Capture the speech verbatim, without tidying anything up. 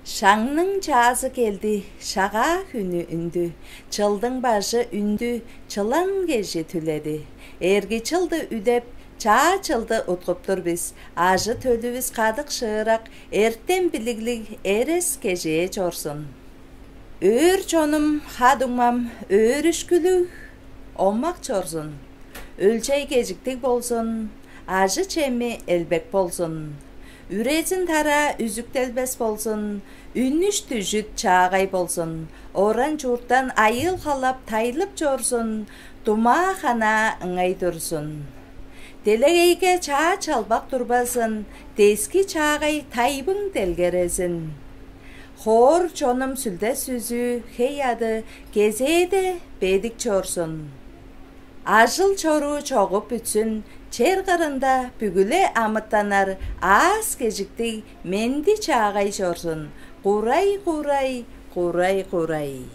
Шаңның чаазы келди, шагаа хүнү үндү, чылдың бажы үндү, чылан кежи түледи. Эрги чылды үдеп, чаа чылды уткуп тур бис. Ажы төлүвүс кадык шыырак, эртем билиглиг эрес кежээ чорзун. Өөр чонум, ха-дуңмам, өөрүшкүлүг, омак чорзун. Өлчей кежиктиг болзун, ажы-чеми элбек болзун. Үрезин тараа үзүктелбес болзун, үнүш дүжүт чаагай болзун, оран чурттан айыыл халап тайлып чорзун, думаа ханаа ыңай турзун. Делегейге чаа чалбак турбазын, дески чаагай тайбың делгерезин. Хоор чонум сүлде сүзүү хей ады кезээде бедик чорзун. Ажыл чоруу чогуп бүтсүн, чер кырында бүгү-ле амытаннар аас кежиктиг менди чаагай чорзун. Курай, курай, курай, курай.